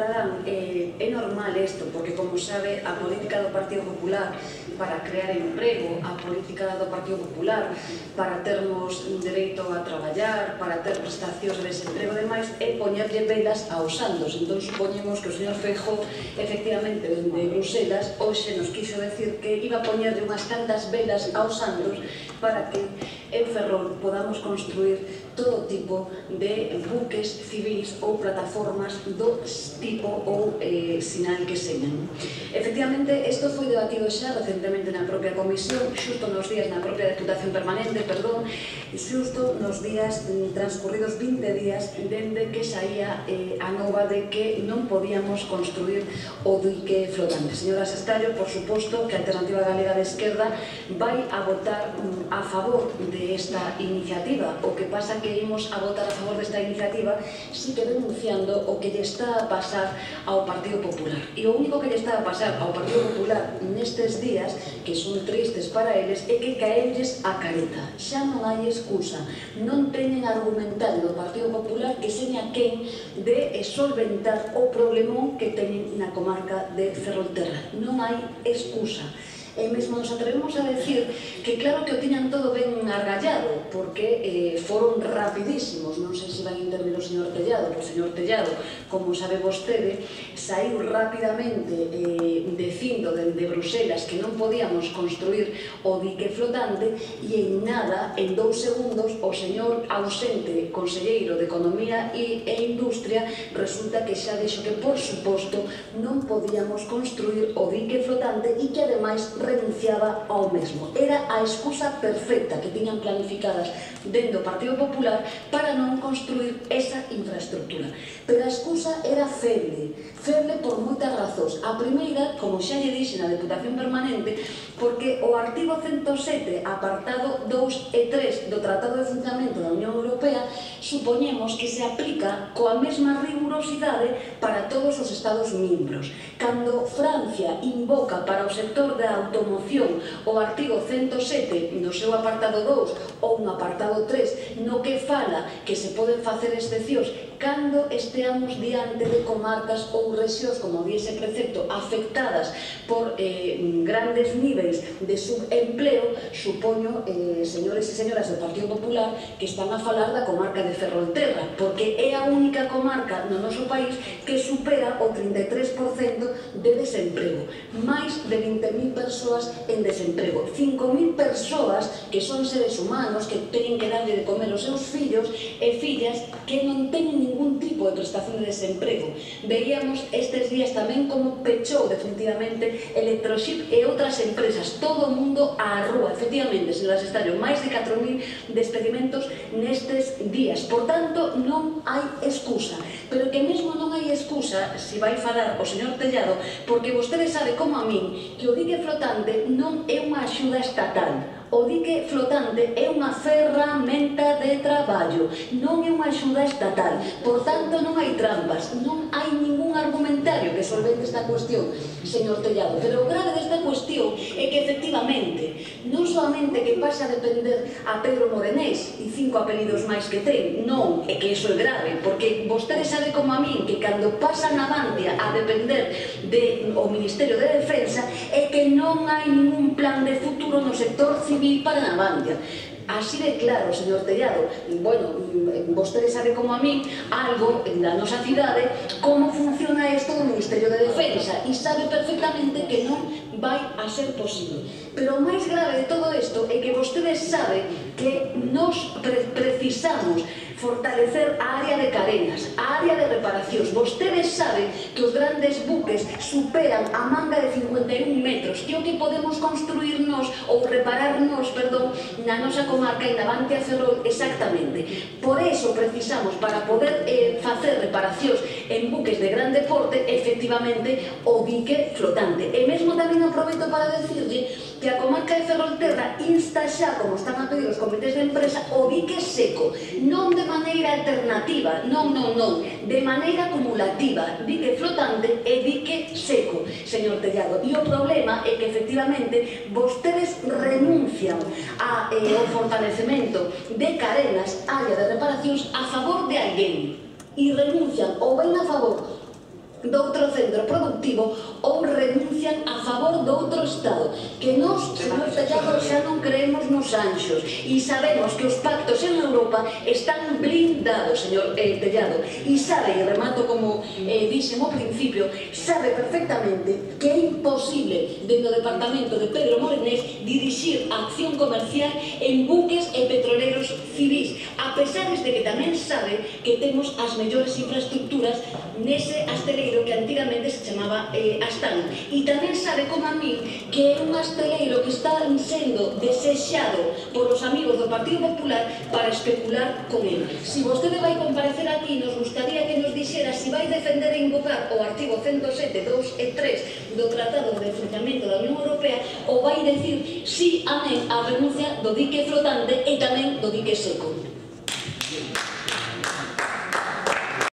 Adán, é normal isto, porque como sabe, a política do Partido Popular para crear emprego, a política do Partido Popular para termos dereito a traballar, para ter prestacións de desemprego e demais, é poñerlle velas aos santos. Entón, supoñemos que o señor Feijóo, efectivamente, de Bruselas, hoxe nos quiso decir que iba a poñerlle unhas cantas velas aos santos para que en Ferrol podamos construir todo tipo de buques civis ou plataformas do tipo ou sinal que señan. Efectivamente, isto foi debatido xa recentemente na propia comisión, xusto nos días na propia Deputación Permanente, perdón, xusto nos días transcurridos 20 días dende que saía a nova de que non podíamos construir o dique flotante. Señora Sestallo, por suposto que a Alternativa Galega de Esquerda vai a votar a favor desta iniciativa. O que pasa que imos a votar a favor desta iniciativa si que denunciando o que lle está a pasar ao Partido Popular. E o único que lle está a pasar ao Partido Popular nestes días, que son tristes para eles, é que caelles a careta. Xa non hai excusa. Non teñen argumentario do Partido Popular que seña quen de solventar o problemón que teñen na comarca de Ferrolterra. Non hai excusa. E mesmo nos atrevemos a decir que claro que o tiñan todo ben argallado, porque foron rapidísimos. Non sei se van a intervir o señor Tellado, o señor Tellado, como sabe vostede, saiu rapidamente dicindo dende Bruselas que non podíamos construir o dique flotante e en nada, en 2 segundos, o señor ausente conselleiro de Economía e Industria resulta que xa dixo que por suposto non podíamos construir o dique flotante e que ademais renunciaba ao mesmo. Era a excusa perfecta que tiñan planificadas dentro do Partido Popular para non construir esa infraestructura. Pero a excusa era feble por moitas razóns. A primeira, como xa lle dixe na Deputación Permanente, porque o artigo 107, apartado 2 e 3 do Tratado de Funcionamento da Unión Europea, supoñemos que se aplica coa mesma rigurosidade para todos os Estados miembros. Cando Francia invoca para o sector da automoción o artigo 107 no seu apartado 2 ou no apartado 3, no que fala que se poden facer excepcións cando esteamos diante de comarcas ou rexións, como di ese precepto, afectadas por grandes niveis de subempleo, supoño, señores e señoras do Partido Popular, que están a falar da comarca de Ferrolterra, porque é a única comarca no noso país que supera o 33% de desemprego. Máis de 20.000 persoas en desemprego. 5.000 persoas que son seres humanos, que teñen que darlle de comer aos seus fillos e fillas que non teñen ningún tipo de prestación de desemprego. Veíamos estes días tamén como pechou definitivamente Electroship e outras empresas, todo o mundo á rúa. Efectivamente, señora Sestallo, máis de 4.000 despedimentos nestes días. Por tanto, non hai excusa. Pero que mesmo non hai excusa, se vai falar o señor Tellado, porque vostede sabe como a min que o dique flotante non é unha axuda estatal. O dique flotante é unha ferramenta de traballo, non é unha axuda estatal. Por tanto, non hai trampas, non hai ningún argumentario que solvente esta cuestión, señor Tellado. Pero o grave desta cuestión é que, efectivamente, non solamente que pasa a depender a Pedro Morenés e 5 apelidos máis que ten, non, é que iso é grave, porque vostede sabe como a min que cando pasa Navantia a depender do Ministerio de Defensa é que non hai ningún plan de futuro no sector civil para Navantia. Así de claro, señor Tellado. Bueno, vostede sabe como a min algo da nosa cidade como funciona isto do Ministerio de Defensa e sabe perfectamente que non vai a ser posible. Pero o máis grave de todo isto é que vostede sabe que nos precisamos fortalecer a área de cadenas, a área de reparacións. Vostedes saben que os grandes buques superan a manga de 51 metros, que o que podemos construirnos ou repararnos, perdón, na nosa comarca e Navantia Ferrol exactamente. Por eso precisamos, para poder facer reparacións en buques de grande porte, efectivamente, o dique flotante. E mesmo tamén aproveito para decirlle que a comarca de Ferrolterra insta xa, como están a pedir os comités de empresa, o dique seco, non de maneira alternativa, non, de maneira acumulativa, dique flotante e dique seco, señor Tellado. E o problema é que, efectivamente, vostedes renuncian ao fortalecemento de cadenas, área de reparacións, a favor de alguén, e renuncian ou ben a favor doutro centro productivo ou renuncian a favor doutro Estado. Que nós, señor Tellado, xa non creemos nos anxos e sabemos que os pactos en Europa están blindados, señor Tellado, e sabe, e remato como dixen ao principio, sabe perfectamente que é imposible dentro do departamento de Pedro Morenés dirixir a acción comercial en buques e petroleros civis, a pesar de que tamén sabe que temos as mellores infraestructuras nese asteleiro que antigamente se chamaba Astán, e tamén sabe como a mí que é un asteleiro que está sendo desexado por os amigos do Partido Popular para especular con ele. Si vostede vai comparecer aquí, nos gustaría que nos dixera si vai defender e invocar o artigo 107, 2 e 3 do Tratado de Funcionamento da Unión Europea ou vai decir si amén á renuncia do dique flotante e tamén do dique seco.